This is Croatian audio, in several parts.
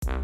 Dragi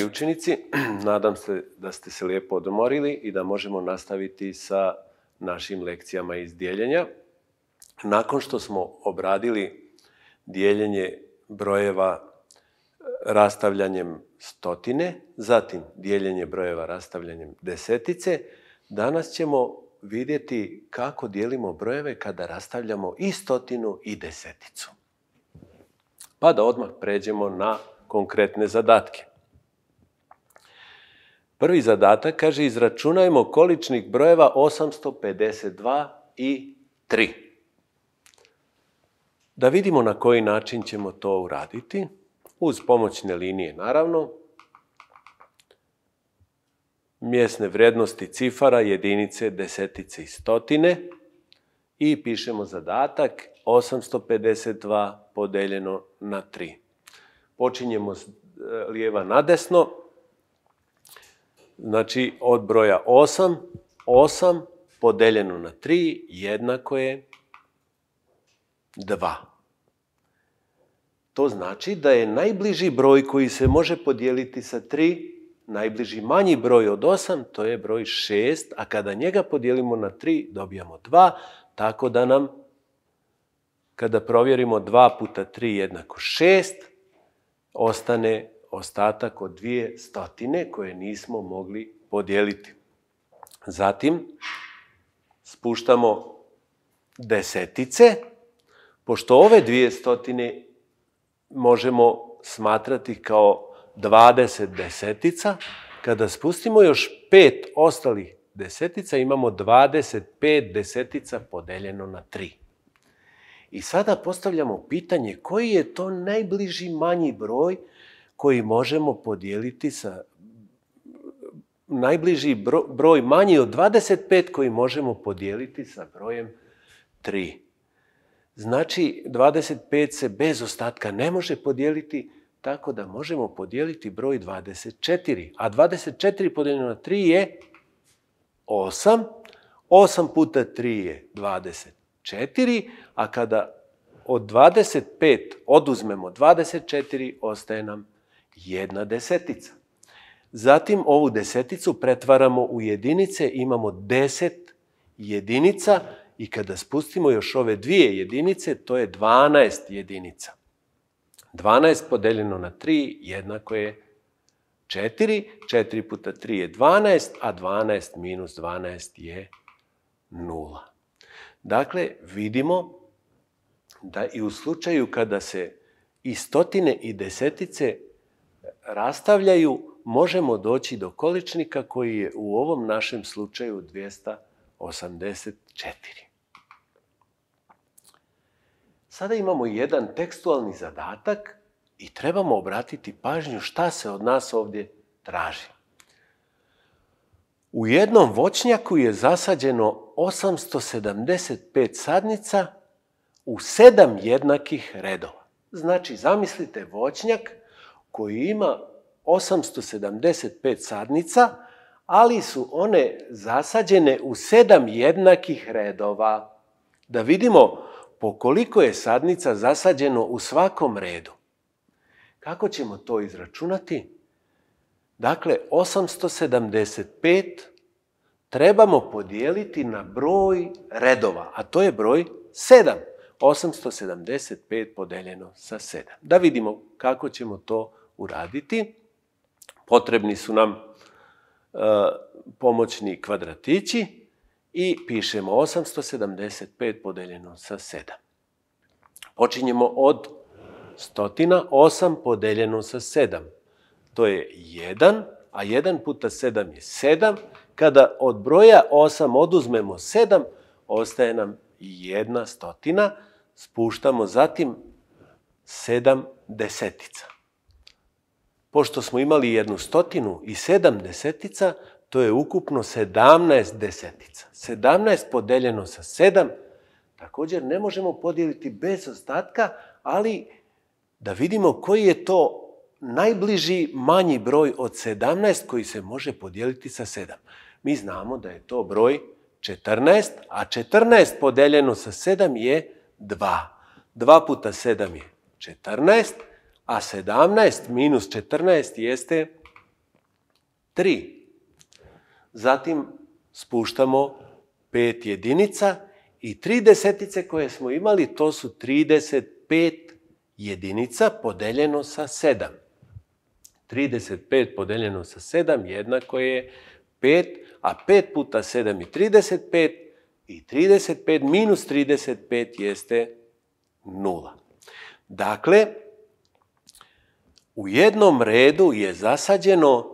učenici, nadam se da ste se lijepo odmorili i da možemo nastaviti sa našim lekcijama iz dijeljenja. Nakon što smo obradili dijeljenje brojeva rastavljanjem stotine, zatim dijeljenje brojeva rastavljanjem desetice, danas ćemo vidjeti kako dijelimo brojeve kada rastavljamo i stotinu i deseticu. Pa da odmah pređemo na konkretne zadatke. Prvi zadatak kaže izračunajmo količnik brojeva 852 i 3. Da vidimo na koji način ćemo to uraditi. Uz pomoćne linije, naravno. Mjesne vrijednosti cifara, jedinice, desetice i stotine. I pišemo zadatak 852 podeljeno na 3. Počinjemo s lijeva na desno. Znači, od broja 8, 8 podeljeno na 3 jednako je 2. To znači da je najbliži broj koji se može podijeliti sa 3, najbliži manji broj od 8, to je broj 6, a kada njega podijelimo na 3, dobijamo 2, tako da nam, kada provjerimo 2 puta 3 jednako 6, ostane ostatak od 2 stotine koje nismo mogli podijeliti. Zatim spuštamo desetice, pošto ove 2 stotine možemo smatrati kao 20 desetica, kada spustimo još 5 ostalih desetica, imamo 25 desetica podeljeno na 3. I sada postavljamo pitanje koji je to najbliži manji broj koji možemo podijeliti sa najbliži broj manji od 25 koji možemo podijeliti sa brojem 3. Znači, 25 se bez ostatka ne može podijeliti, tako da možemo podijeliti broj 24. A 24 podijeljeno na 3 je 8. 8 puta 3 je 24, a kada od 25 oduzmemo 24, ostaje nam 1 desetica. Zatim ovu deseticu pretvaramo u jedinice, imamo 10 jedinica i kada spustimo još ove 2 jedinice, to je 12 jedinica. 12 podeljeno na 3 jednako je 4. 4 puta 3 je 12, a 12 minus 12 je 0. Dakle, vidimo da i u slučaju kada se i stotine i desetice rastavljaju, možemo doći do količnika koji je u ovom našem slučaju 284. Sada imamo jedan tekstualni zadatak i trebamo obratiti pažnju šta se od nas ovdje traži. U jednom voćnjaku je zasađeno 875 sadnica u 7 jednakih redova. Znači, zamislite voćnjak koji ima 875 sadnica, ali su one zasađene u 7 jednakih redova. Da vidimo po koliko je sadnica zasađeno u svakom redu. Kako ćemo to izračunati? Dakle, 875 trebamo podijeliti na broj redova, a to je broj 7. 875 podeljeno sa 7. Da vidimo kako ćemo to uraditi. Potrebni su nam pomoćni kvadratići i pišemo 875 podeljeno sa 7. Počinjemo od stotina, 8 podeljeno sa 7. To je 1, a 1 puta 7 je 7. Kada od broja 8 oduzmemo 7, ostaje nam 1 stotina. Spuštamo zatim 7 desetica. Pošto smo imali 1 stotinu i 7 desetica, to je ukupno 17 desetica. 17 podeljeno sa 7 također ne možemo podijeliti bez ostatka, ali da vidimo koji je to najbliži manji broj od 17 koji se može podijeliti sa 7. Mi znamo da je to broj 14, a 14 podeljeno sa 7 je 2. 2 puta 7 je 14, a 17 minus 14 jeste 3. Zatim spuštamo 5 jedinica i 3 desetice koje smo imali, to su 35 jedinica podeljeno sa 7. 35 podeljeno sa 7 jednako je 5, a 5 puta 7 je 35 i 35 minus 35 jeste 0. Dakle, u jednom redu je zasađeno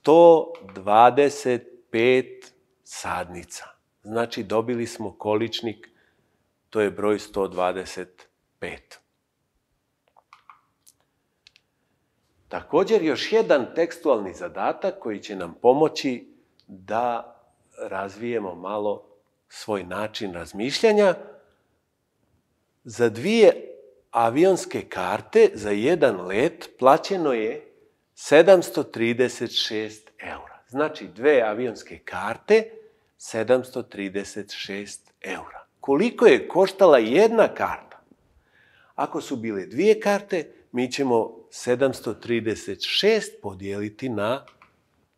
125 sadnica. Znači, dobili smo količnik, to je broj 125. Također, još jedan tekstualni zadatak koji će nam pomoći da razvijemo malo svoj način razmišljanja. Za 2 avionske karte za jedan let plaćeno je 736 eura. Znači, 2 avionske karte, 736 eura. Koliko je koštala jedna karta? Ako su bile 2 karte, mi ćemo 736 podijeliti na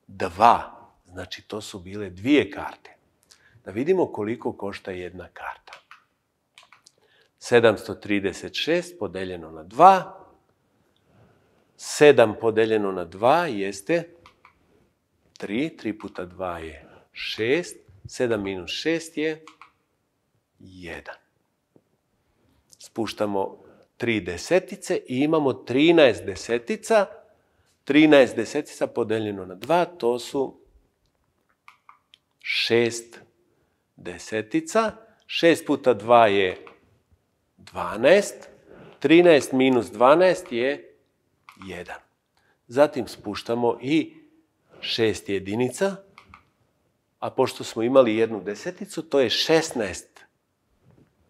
2. Znači, to su bile 2 karte. Da vidimo koliko košta jedna karta. 736 podeljeno na 2. 7 podeljeno na 2 jeste 3. 3 puta 2 je 6. 7 minus 6 je 1. Spuštamo 3 desetice i imamo 13 desetica. 13 desetica podeljeno na 2, to su 6 desetica. 6 puta 2 je 12. 13 minus 12 je 1. Zatim spuštamo i 6 jedinica, a pošto smo imali jednu deseticu, to je 16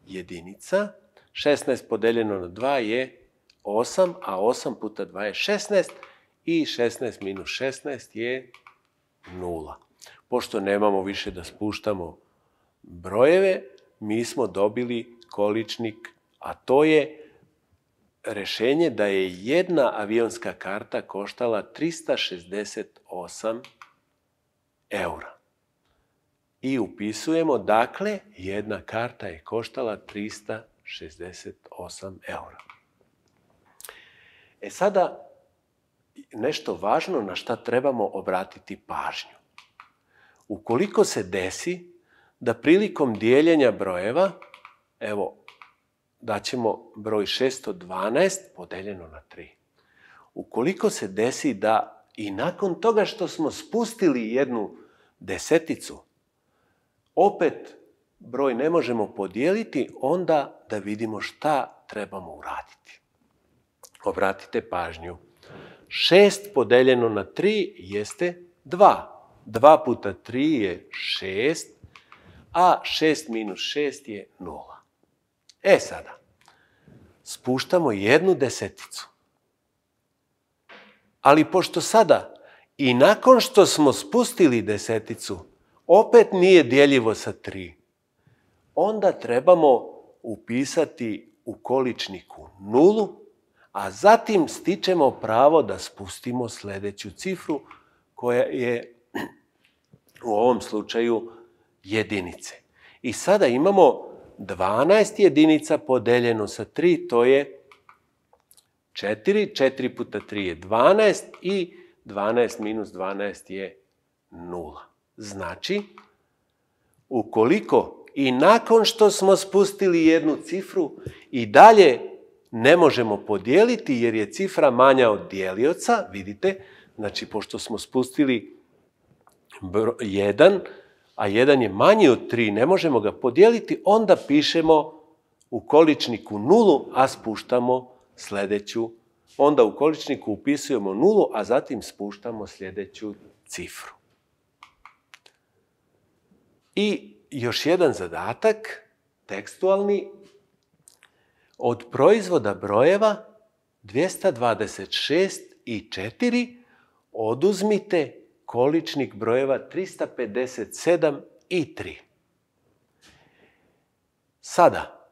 jedinica. 16 podeljeno na 2 je 8, a 8 puta 2 je 16 i 16 minus 16 je 0. Pošto nemamo više da spuštamo brojeve, mi smo dobili količnik, a to je rešenje da je jedna avionska karta koštala 368 eura. I upisujemo, dakle, jedna karta je koštala 368 eura. Sada, nešto važno na šta trebamo obratiti pažnju. Ukoliko se desi da prilikom dijeljenja brojeva, evo, daćemo broj 612 podeljeno na 3. Ukoliko se desi da i nakon toga što smo spustili jednu deseticu, opet broj ne možemo podijeliti, onda da vidimo šta trebamo uraditi. Obratite pažnju. 6 podeljeno na 3 jeste 2. 2 puta 3 je 6, a 6 minus 6 je 0. Sada, spuštamo jednu deseticu. Ali pošto sada i nakon što smo spustili deseticu, opet nije dijeljivo sa 3, onda trebamo upisati u količniku 0, a zatim stičemo pravo da spustimo sljedeću cifru koja je u ovom slučaju jedinice. I sada imamo 12 jedinica podeljeno sa 3, to je 4. 4 puta 3 je 12 i 12 minus 12 je 0. Znači, ukoliko i nakon što smo spustili jednu cifru i dalje ne možemo podijeliti jer je cifra manja od dijelioca, vidite, znači pošto smo spustili 1, a 1 je manji od 3, ne možemo ga podijeliti, onda pišemo u količniku 0, a spuštamo sljedeću. Onda u količniku upisujemo 0, a zatim spuštamo sljedeću cifru. I još jedan zadatak, tekstualni. Od proizvoda brojeva 226 i 4 oduzmite količnik brojeva 357 i 3. Sada,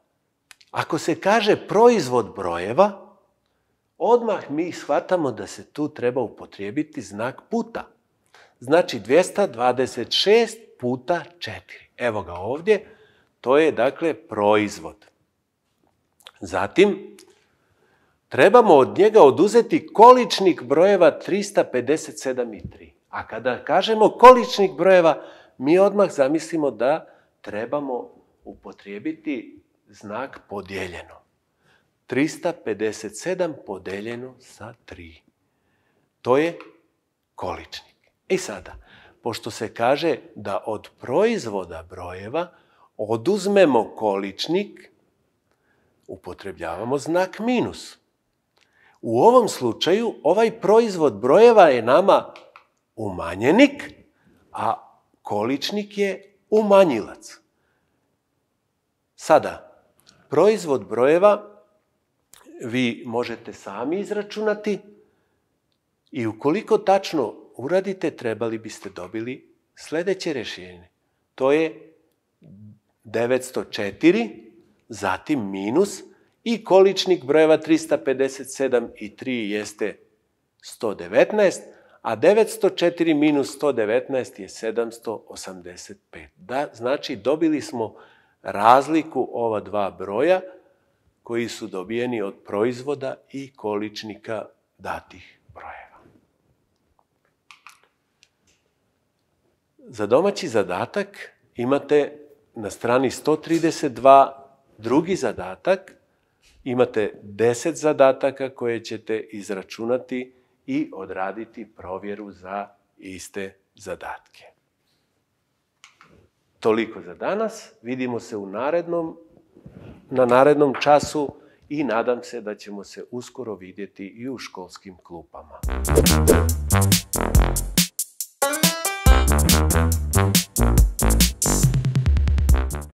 ako se kaže proizvod brojeva, odmah mi shvatamo da se tu treba upotrijebiti znak puta. Znači 226 puta 4. Evo ga ovdje. To je dakle proizvod. Zatim, trebamo od njega oduzeti količnik brojeva 357 i 3. A kada kažemo količnik brojeva, mi odmah zamislimo da trebamo upotrijebiti znak podijeljeno. 357 podeljeno sa 3. To je količnik. I sada, pošto se kaže da od proizvoda brojeva oduzmemo količnik, upotrebljavamo znak minus. U ovom slučaju ovaj proizvod brojeva je nama umanjenik, a količnik je umanjilac. Sada, proizvod brojeva vi možete sami izračunati i ukoliko tačno uradite, trebali biste dobili sljedeće rješenje. To je 904, zatim minus i količnik brojeva 357 i 3 jeste 119, a 904 minus 119 je 785. Znači, dobili smo razliku ova dva broja koji su dobijeni od proizvoda i količnika datih brojeva. Za domaći zadatak imate na strani 132 drugi zadatak. Imate 10 zadataka koje ćete izračunati i odraditi provjeru za iste zadatke. Toliko za danas. Vidimo se na narednom času i nadam se da ćemo se uskoro vidjeti i u školskim klupama.